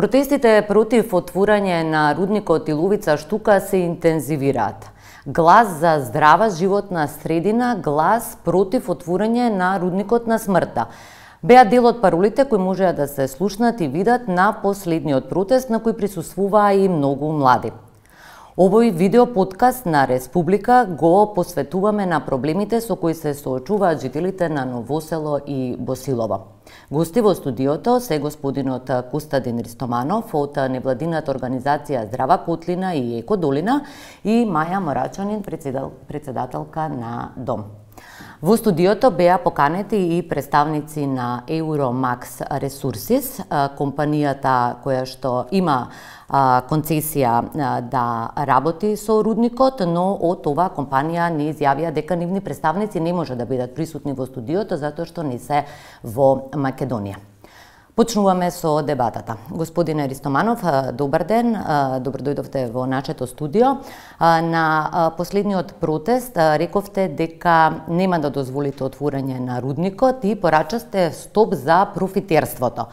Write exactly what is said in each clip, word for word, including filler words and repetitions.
Протестите против отворање на рудникот Иловица Штука се интензивираат. Глас за здрава животна средина, глас против отворање на рудникот на смртта. Беа дел од паролите кои можеа да се слушнат и видат на последниот протест на кој присуствуваа и многу млади. Овој видеоподкаст на Республика го посветуваме на проблемите со кои се соочуваат жителите на Новосело и Босилово. Гости во студиото се господинот Костадин Ристоманов од невладината организација Здрава Котлина и Еко Долина и Маја Морачанин, председателка на Дом. Во студиото беа поканети и представници на Euromax Resources, компанијата која што има концесија да работи со рудникот, но од оваа компанија не изјавија дека нивни представници не може да бидат присутни во студиото затоа што не се во Македонија. Почнуваме со дебатата. Господине Ристоманов, добар ден, добро дојдовте во нашето студио. На последниот протест рековте дека нема да дозволите отворање на рудникот и порачасте стоп за профитерството.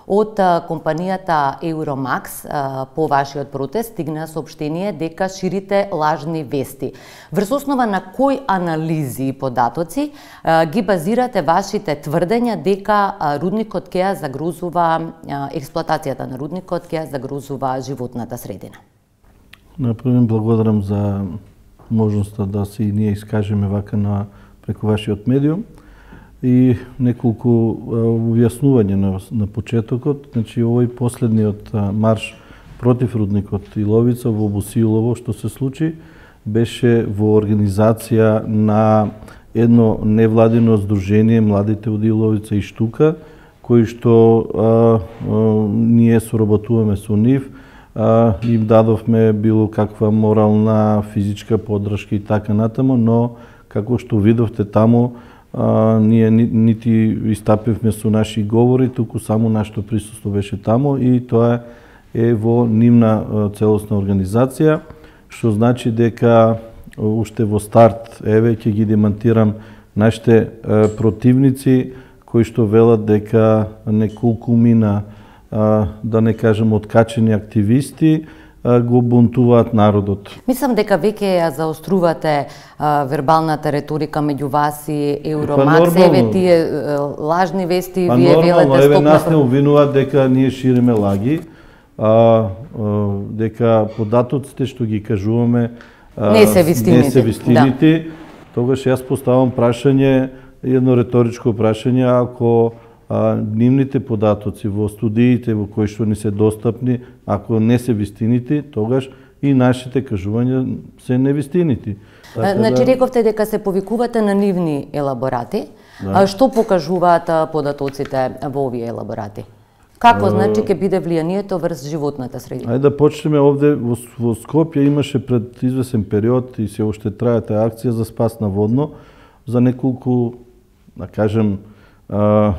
Од компанијата Euromax по вашиот протест стигна соопштение дека ширите лажни вести. Врз основа на кои анализи и податоци ги базирате вашите тврдења дека рудникот ќе ја загрозува, експлоатацијата на рудникот ќе ја загрозува животната средина? Например, благодарам за можноста да се и ние искажеме вака на преку вашиот медиум. И неколку објаснување на, на почетокот. Значи, овој последниот марш против рудникот Иловица во Босилово, што се случи, беше во организација на едно невладино здружение Младите од Иловица и Штука, кои што а, а, ние соработуваме со нив, а, им дадовме било каква морална, физичка поддршка и така натаму, но како што видовте таму, А, ние ни, нити истапивме со наши говори, туку само нашето присуство беше таму и тоа е во нивна целосна организација, што значи дека уште во старт, еве ќе ги демантирам нашите е, противници кои што велат дека неколку мина, а, да не кажем откачени активисти, го бунтуваат народот. Мислам дека веќе ја заострувате а, вербалната реторика меѓу вас и Euromax, па, еве тие а, лажни вести, па, вие велете стоп. Еве нас не обвинуваат дека ние шириме лаги, а, а, дека податоците што ги кажуваме а, не се вистините. Не се вистините. Да. Тогаш јас поставам прашање, едно реторичко прашање, ако А, нивните податоци во студиите во кои што ни се достапни, ако не се вистините, тогаш и нашите кажувања се невистините. Така значи, да... рековте дека се повикувате на нивни елаборати. Да. А што покажуваат податоците во овие елаборати? Какво а... значи ќе биде влијанието врз животната средина? Ајде да почнеме овде во, во Скопје имаше пред извесен период и се уште трае таа акција за спас на водно за неколку, да кажем, а,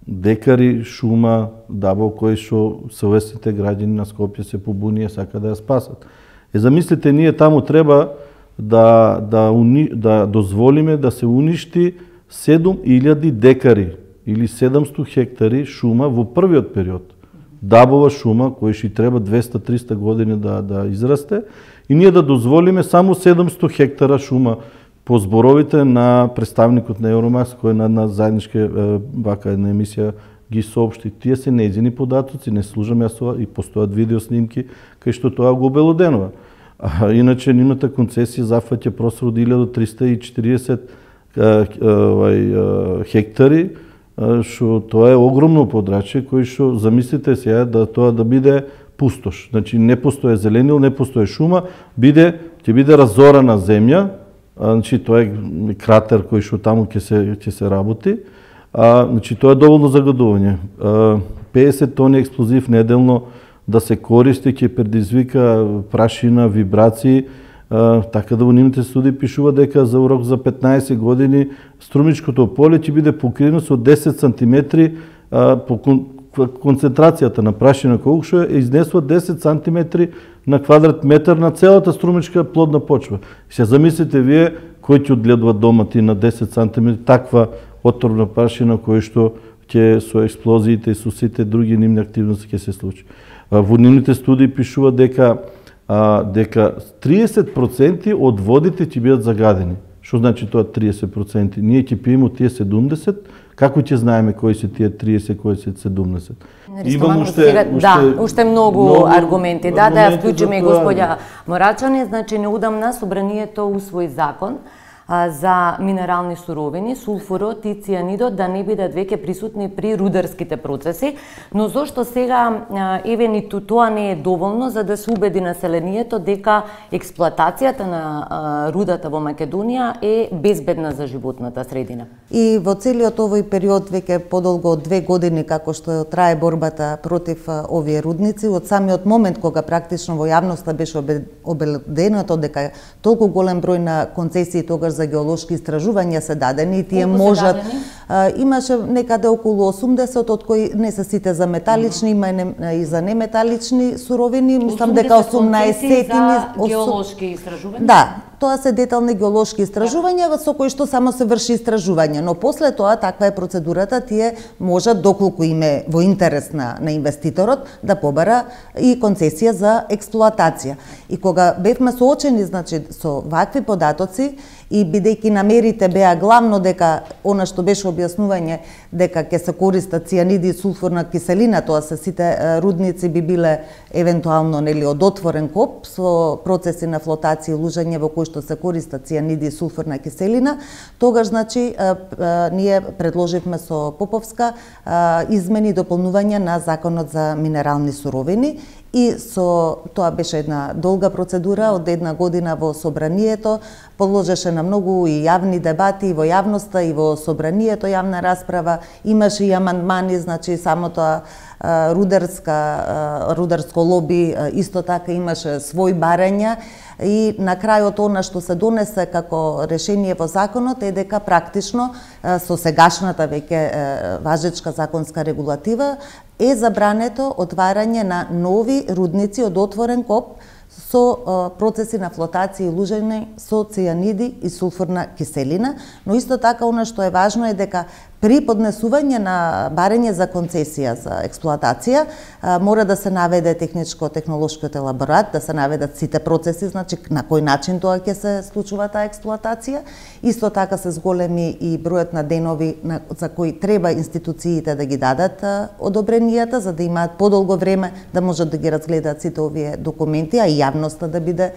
декари шума дабо кои што совесните граѓани на Скопје се побунија, сака да ја спасат. Е, замислите, ние таму треба да, да, уни, да дозволиме да се уништи седум илјади декари или седумстотини хектари шума во првиот период. Дабова шума, кој што треба двеста до триста години да, да израсте, и ние да дозволиме само седумстотини хектара шума по зборовите на представникот на Euromax, кој на, на заедничка вака една емисија ги соопшти. Тие се нејзини податоци, не служам јас и постојат видеоснимки кај што тоа го обелоденува. А, иначе нивната концесија зафаќа просор од илјада триста и четириесет хектари, што тоа е огромно подрачје кој што замислите сега да тоа да биде пустош. Значи не постои зеленил, не постои шума, биде ќе биде разорана земја. Значи тоа е кратер кој што таму ќе се ќе се работи. А, значи тоа е доволно загадување. педесет тони експлозив неделно да се користи ќе предизвика прашина, вибрации, а, така да во нивните студии пишува дека за урок за петнаесет години струмичкото поле ќе биде покриено со десет сантиметри а, по концентрацијата на прашина колку што е изнесува десет сантиметри на квадрат метар на целата струмичка плодна почва. И се замислите вие кој ќе одгледува домати на десет сантиметри таква отровна прашина кој што ќе со експлозиите и со сите други нивни активности ќе се случи. Во нивните студии пишува дека а, дека триесет проценти од водите ќе бидат загадени. Што значи тоа триесет проценти? Ние ќе пиеме тие седумдесет, како ќе знаеме кои се тие триесет, кои се седумдесет? Имам уште, сега, уште да, уште многу, многу аргументи. Да, да ја вклучиме и господја Морачани, значи неудамна собранието усвои закон за минерални суровини, сулфурот и цијанидот да не бидат веќе присутни при рударските процеси, но зошто сега еве ниту тоа не е доволно за да се убеди населението дека експлоатацијата на рудата во Македонија е безбедна за животната средина? И во целиот овој период, веќе подолго од две години како што трае борбата против овие рудници, од самиот момент кога практично во јавноста беше обеледено дека толку голем број на концесии тогаш за геолошки истражувања се дадени и тие Колку можат а, имаше некаде околу осумдесет, од кои не се сите за металични, има и, не, и за неметалични суровини, мислам дека осумнаесет за геолошки истражувања. Да, тоа се детални геолошки истражувања со кои што само се врши истражување, но после тоа таква е процедурата, тие можат доколку им е во интерес на, на инвеститорот да побара и концесија за експлоатација. И кога бевме соочени, значи, со вакви податоци и бидејќи намерите беа главно дека она што беше објаснување дека ќе се користат цијаниди и сулфурна киселина, тоа се сите рудници би биле евентуално нели од отворен коп со процеси на флотација и лужање во кои што се користат цијаниди и сулфурна киселина, тогаш значи а, а, ние предложивме со Поповска а, измени и дополнување на законот за минерални суровини. И со тоа беше една долга процедура од една година во собранието, подложеше на многу и јавни дебати и во јавноста и во собранието јавна расправа, имаше и амандмани, значи само тоа рударска рударско лоби исто така имаше свој барања и на крајот она што се донесе како решение во законот е дека практично со сегашната веќе важечка законска регулатива е забрането отварање на нови рудници од отворен коп со процеси на флотација и лужење со цијаниди и сулфурна киселина, но исто така она што е важно е дека при поднесување на барање за концесија за експлоатација мора да се наведе техничко-технолошкиот елаборат, да се наведат сите процеси, значи на кој начин тоа ќе се случува таа експлоатација. Исто така се зголеми и бројот на денови на, за кои треба институциите да ги дадат одобренијата, за да имаат подолго време да можат да ги разгледаат сите овие документи, а и јавноста да биде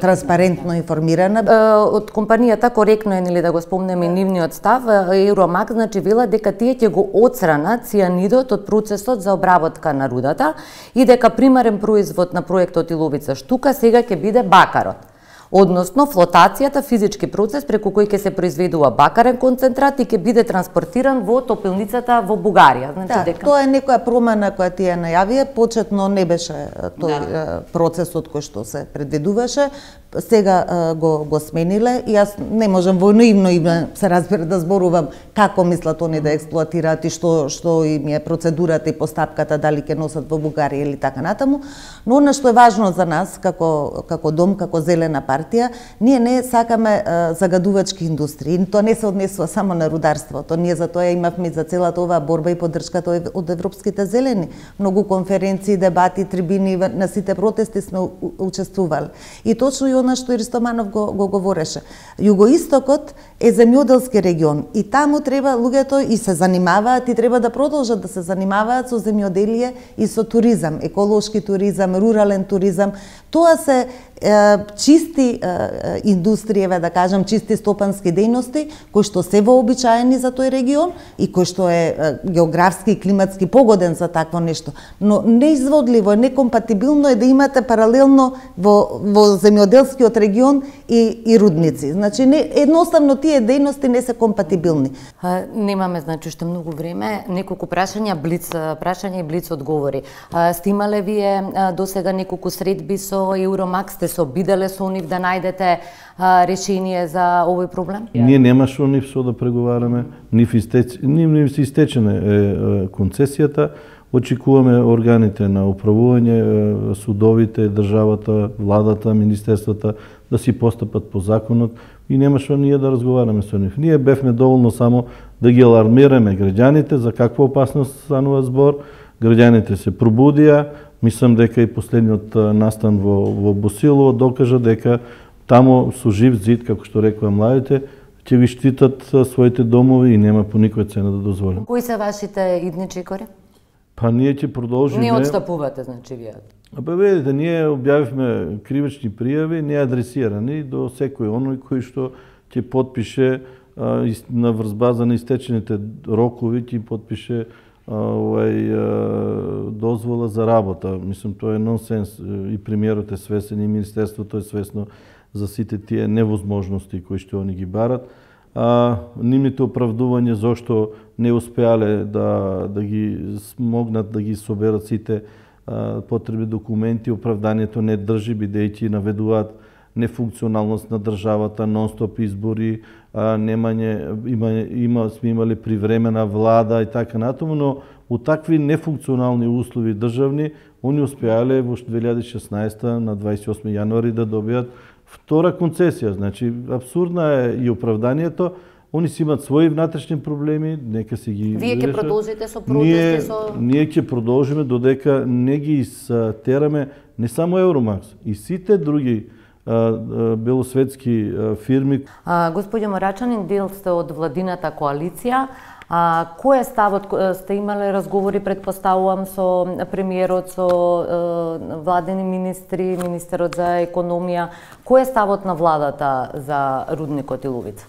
транспарентно информирана. Од компанијата коректно е нели да го спомнеме нивниот став, Евромак значи вела дека тие ќе го отстранат цијанидот од процесот за обработка на рудата и дека примарен производ на проектот Иловица штука сега ќе биде бакарот. Односно, флотацијата, физички процес преку кој ќе се произведува бакарен концентрат и ќе биде транспортиран во топилницата во Бугарија. Значи, да, дека... тоа е некоја промена која тие најавија, почетно не беше тој да. процесот кој што се предвидуваше, сега го, го смениле и јас не можам во наивно име се разбира да зборувам како мислат они да експлоатираат и што што им е процедурата и постапката, дали ќе носат во Бугарија или така натаму, но она што е важно за нас како како дом, како зелена партија, ние не сакаме а, загадувачки индустрии. Тоа не се однесува само на рударството. Ние за тоа имавме за целата оваа борба и поддршката од европските зелени. Многу конференции, дебати, трибини на сите протести сме учествували. И точно и она што Ристоманов го, го говореше. Југоистокот е земјоделски регион и таму треба луѓето и се занимаваат и треба да продолжат да се занимаваат со земјоделие и со туризам, еколошки туризам, рурален туризам. Тоа се чисти индустријеве, да кажам, чисти стопански дејности, кои што се вообичаени за тој регион и кој што е географски и климатски погоден за такво нешто. Но неизводливо, некомпатибилно е да имате паралелно во, во земјоделскиот регион и, и рудници. Значи, не, едноставно тие дејности не се компатибилни. А, немаме, значи, уште многу време. Неколку прашања, блиц прашања и блиц одговори. А, сте имале вие до сега неколку средби со Евромак, сте се обиделе со нив да најдете а, решение за овој проблем? Ние немаше нив со да преговараме, нив истеч, нив, нив се истечене е, е, концесијата, очекуваме органите на управување, судовите, државата, владата, министерствата да си постапат по законот и немаше ние да разговараме со нив. Ние бевме доволно само да ги алармираме граѓаните за каква опасност станува збор, граѓаните се пробудија. Мислам дека и последниот настан во, во Босилово докажа дека таму со жив зид, како што рекоа младите, ќе ви штитат своите домови и нема по никоја цена да дозволим. Кои се вашите идни чекори? Па ние ќе продолжиме. Не отстапувате, значи вие. Абе видите, ние објавивме кривични пријави, не адресирани до секој оној кој што ќе потпише а, на врзбаза на истечените рокови, ќе потпише а, овај а, дозвола за работа. Мислам, тоа е нонсенс. И премиерот е свесен, и министерството е свесно за сите тие невозможности кои што они ги барат. А, нивните оправдување зошто не успеале да, да ги смогнат да ги соберат сите а, потребни документи, оправданието не држи, бидејќи наведуваат нефункционалност на државата, нон-стоп избори, а, немање, има, има, сме имале привремена влада и така натаму, но у такви нефункционални услови државни, они успеале во две илјади и шеснаесета на дваесет и осми јануари да добијат втора концесија. Значи, абсурдна е и оправданието. Они си имат своји внатрешни проблеми, нека си ги Вие ќе решат. продолжите со Ние, протести со... ние ќе продолжиме додека не ги тераме не само Евромакс, и сите други а, а, белосветски а, фирми. А, господјо Морачанин, дел сте од владината коалиција. А, кој е ставот? Сте имале разговори, предпоставувам, со премиерот, со е, владени министри, министерот за економија. Кој е ставот на владата за рудникот Иловица?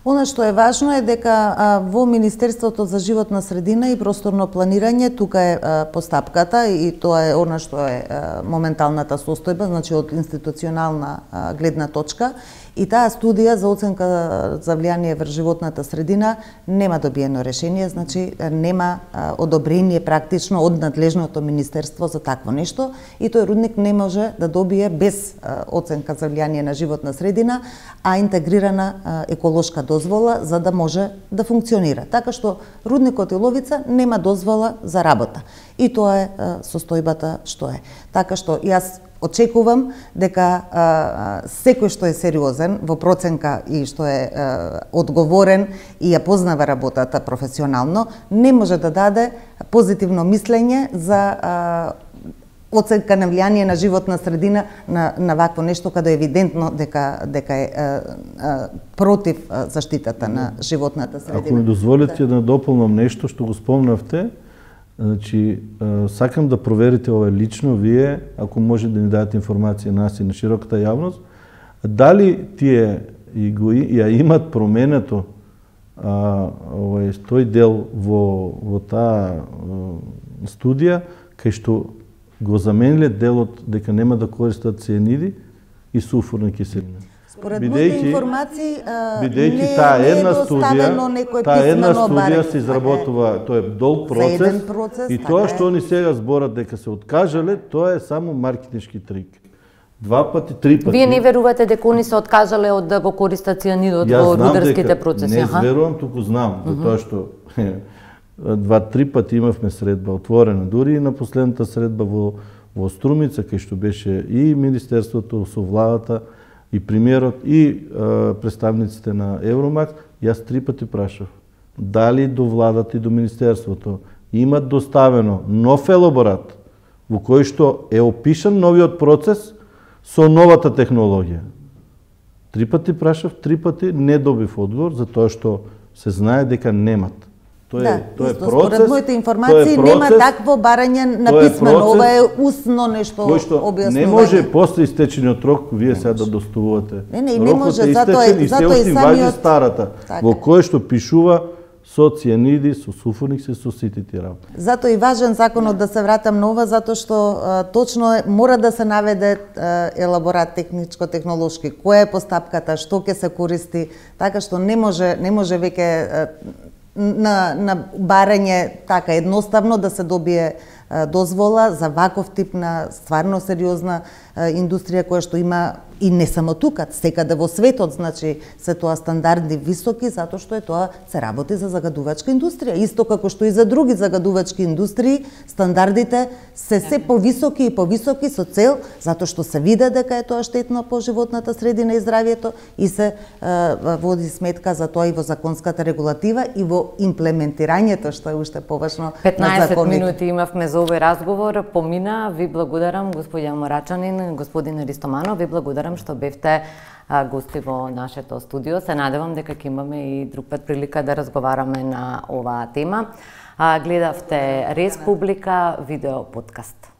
Она што е важно е дека а, во Министерството за животна средина и просторно планирање тука е а, постапката и тоа е она што е а, моменталната состојба, значи од институционална а, гледна точка. И таа студија за оценка за влијание врз животната средина нема добиено решение, значи нема а, одобрение практично од надлежното министерство за такво нешто и тој рудник не може да добие без а, оценка за влијание на животна средина, а интегрирана а, еколошка дозвола за да може да функционира. Така што рудникот Иловица нема дозвола за работа. И тоа е а, состојбата што е. Така што јас очекувам дека а, секој што е сериозен во проценка и што е а, одговорен и ја познава работата професионално, не може да даде позитивно мислење за а, оценка на влијание на животна средина на, на вакво нешто каде е евидентно дека, дека е а, а, против а, заштитата на животната средина. Ако ми дозволите да дополнам нешто што го спомнавте, значи, сакам да проверите ова лично вие, ако може да ни дадете информација на нас и на широката јавност, дали тие и го ја имат променето а, овој тој дел во во таа студија кај што го замениле делот дека нема да користат цијаниди и сулфурна киселина. Според моите информации, бидејќи таа една студија, таа една студија се изработува, тоа е долг процес, процес и тоа што они сега зборат дека се откажале, тоа е само маркетиншки трик. Два пати, три пати. Вие не верувате дека они се откажале од да го користат цијанидот во рударските процеси? Не верувам, туку знам, uh -huh. тоа што два-три пати имавме средба отворена, дури и на последната средба во во Струмица, кај што беше и Министерството со владата, и премиерот, и а, представниците на Евромакс, јас три пати прашав дали до владата и до Министерството имат доставено нов елаборат во кој што е опишан новиот процес со новата технологија. Три пати прашав, три пати не добив одговор, затоа што се знае дека немат. Тоа да, е, тоа е исто, процес. Според моите информации процес, нема такво барање на писмено, ова е усно нешто објаснување. Не може после истечениот рок вие сега да доставувате. Не, не, не може, затоа е, затоа и самиот старата, така, во кој што пишува со цијаниди, со суфоникси, со сите тие работи. Затоа и важен законот да се вратам на ова, затоа што а, точно е, мора да се наведе а, елаборат техничко-технолошки, која е постапката, што ќе се користи, така што не може, не може веќе а, на, на барање така едноставно да се добие дозвола за ваков тип на стварно сериозна индустрија која што има и не само тука, секаде во светот, значи се тоа стандарди високи затоа што е тоа се работи за загадувачка индустрија. Исто како што и за други загадувачки индустрии, стандардите се се повисоки и повисоки со цел затоа што се види дека е тоа штетно по животната средина и здравјето и се е, води сметка за тоа и во законската регулатива и во имплементирањето, што е уште поважно на петнаесет законите. минути имавме за овој разговор, помина, ви благодарам господја Морачанин, господин Ристоманов, ви благодарам што бевте гости во нашето студио. Се надевам дека ќе имаме и друг пат прилика да разговараме на оваа тема. Гледавте Республика видео подкаст.